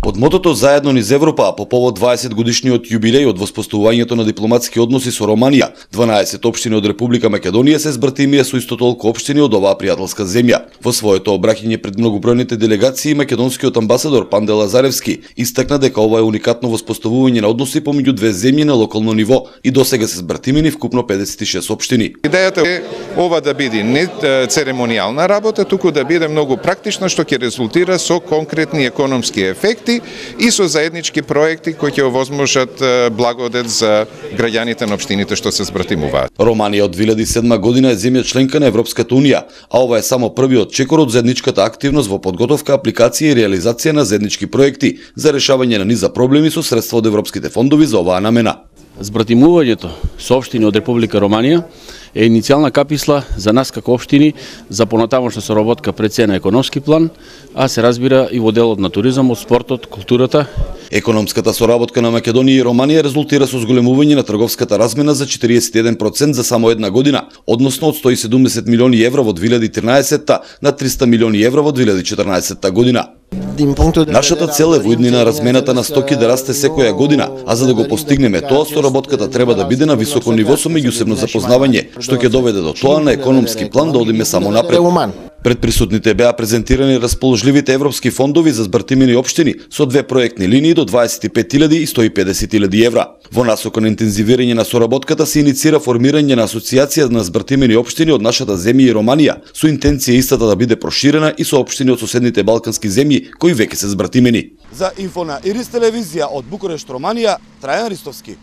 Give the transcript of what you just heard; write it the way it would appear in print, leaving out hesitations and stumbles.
Под мотото "Заедно низ Европа", а по повод 20 годишниот јубилеј од воспоставувањето на дипломатски односи со Романија, 12 општини од Република Македонија се збратимија со исто толку општини од оваа пријателска земја. Во своето обраќање пред многобројните делегации, македонскиот амбасадор Панде Лазаревски истакна дека ова е уникатно воспоставување на односи помеѓу две земји на локално ниво и досега се збратимени вкупно 56 општини. Идејата е ова да биде не церемонијална работа, туку да биде многу практична, што ќе резултира со конкретни економски ефекти и со заеднички проекти кои ќе овозможат благодет за граѓаните на општините што се збратимуваат. Романија од 2007 година е земја членка на Европската унија, а ова е само првиот чекор од заедничката активност во подготовка, апликација и реализација на заеднички проекти за решавање на низа проблеми со средства од европските фондови за оваа намена. Збратимувањето со општини од Република Романија е иницијална каписла за нас како општини за понатамошна соработка пред се на економски план, а се разбира и во делот на туризмот, спортот, културата. Економската соработка на Македонија и Романија резултира со зголемување на трговската размена за 41% за само една година, односно од 170 милиони евро во 2013 на 300 милиони евро во 2014 година. Нашата цел е во иднина размената на стоки да расте секоја година, а за да го постигнеме тоа, соработката треба да биде на високо ниво со меѓусебно запознавање, што ќе доведе до тоа на економски план да одиме само напред. Пред присутните беа презентирани расположливите европски фондови за збратимени општини со две проектни линии до 25.000 и 150.000 евра. Во насока на интензивирање на соработката се иницира формирање на асоциација на збратимени општини од нашата земја и Романија, со интенција истата да биде проширена и со општини од соседните балкански земји кои веќе се збратимени. За Инфо на Ирис телевизија од Букурешт, Романија, Трајан Ристовски.